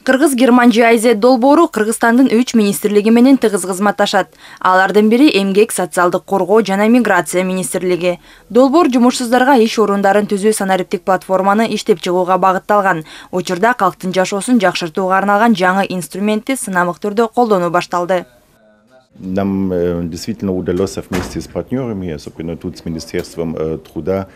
Кыргыз-Герман GIZ долбоору Кыргызстандын 3 министрлиги менен тыгыз кызматташат. Алардын бири Эмгек, социалдык коргоо жана миграция министрлиги. Долбоор жумушсуздарга иш орундарын түзүү санариптик платформаны иштеп чыгууга багытталган. Учурда калктын жашоосун жакшыртууга арналган жаңы инструментти сынамык түрдө колдонуу башталды. Нам действительно удалось вместе с партнерами, особенно тут с Министерством труда.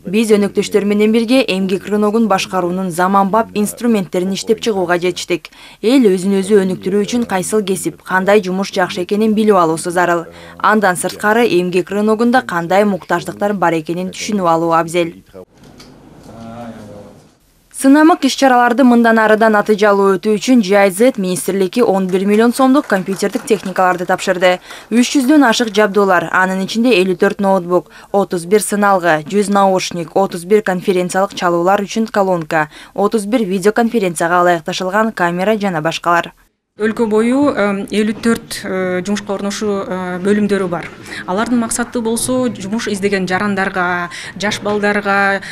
Биз өнөктөштөр менен бирге эмгек рыногун башкаруунун заманбап инструменттерин иштеп чыгууга жетиштик. Эл өзүн өзү өнүктүрүү үчүн кайсыл кесип, кандай жумуш жакшы экенин билип алуусу зарыл. Андан сырткары эмгек рыногунда кандай муктаждыктар бар экенин түшүнүп алуу абзел. Сынамык иш-чараларды мындан арыда натыйжалуу өтүү үчүн GIZ министрлиги 11 миллион сомдук компьютердик техникаларды тапшырды. 300дөн ашык жабдуулар, анын ичинде 54 ноутбук, 31 сыналгы, 100 наушник, 31 конференциялык чалуулар үчүн колонка, 31 видеоконференцияга ылайыкташылган камера жана башкалар. Өлкө бою 54 жумушка орношуу бөлүмдөрү бар. Алардын максаты болсо жумуш издеген жарандарга, жаш балдарга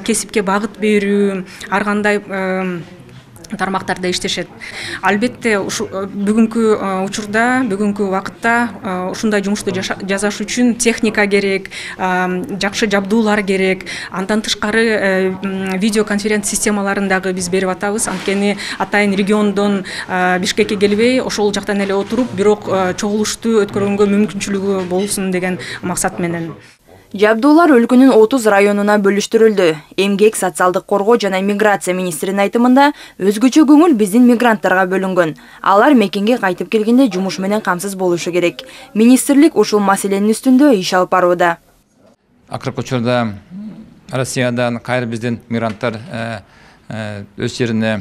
кесипке багыт берүү, ар кандай тармактарда иштешет. Албетте бүгүнкү учурда, бүгүнкү убакытта ушундай жумушту жасаш үчүн техника керек, жакшы жабдуулар керек. Андан тышкары видеоконференц системаларын дагы биз берип атабыз. Анткени атайын региондон Бишкекке келбей, ошол жактан эле отуруп, бирок чогулушту өткөргөнгө мүмкүнчүлүгү болсун деген максат менен. Жабдуулар өлкөнүн 30 районуна бөлүштүрүлдү. Эмгек, социалдык коргоо жана миграция министринин айтымында өзгөчө көңүл биздин мигранттарга бөлүнгөн. Алар мекенге кайтып келгенде жумуш менен камсыз болушу керек. Министрлик ушул маселенин үстүндө иш алып барууда. Акыркы учурда Россиядан кайра биздин мигранттар өз жерине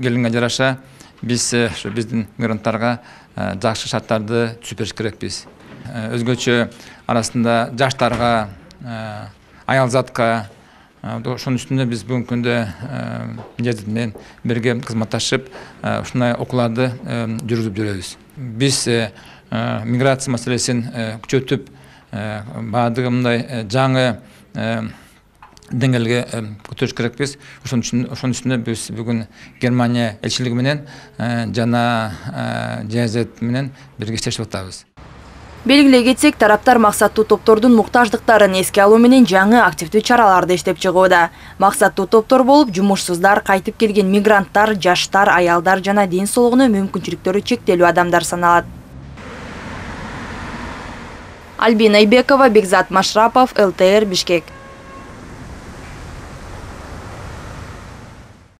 келгенге жараша биз биздин мигранттарга жакшы шарттарды түзүп бериш керекпиз. Өзгөчө арасында жаштарга, аялзатка, ошонун үстүнө биз бүгүнкү күндө GIZ менен бирге кызматташып, ушундай окууларды жүргүзүп жүрөбүз. Биз миграция маселесин күчөтүп, баардыгы мындай жаңы деңгээлге көтөрүш керекпиз. Ошонун үстүнө биз бүгүн Германия элчилиги менен жана GIZ менен бирге иштешип атабыз. Белгилей кетсек, тараптар максаттуу топтордун муктаждыктарын эске алуу менен жаңы активдүү чараларды иштеп чыгууда. Максаттуу топтор болуп, жумушсуздар, кайтып келген мигранттар, жаштар, аялдар жана ден соолугуна мүмкүнчүлүктөрү чектелүү адамдар саналат. Альбина Айбекова, Бекзат Машрапов, ЛТР, Бишкек.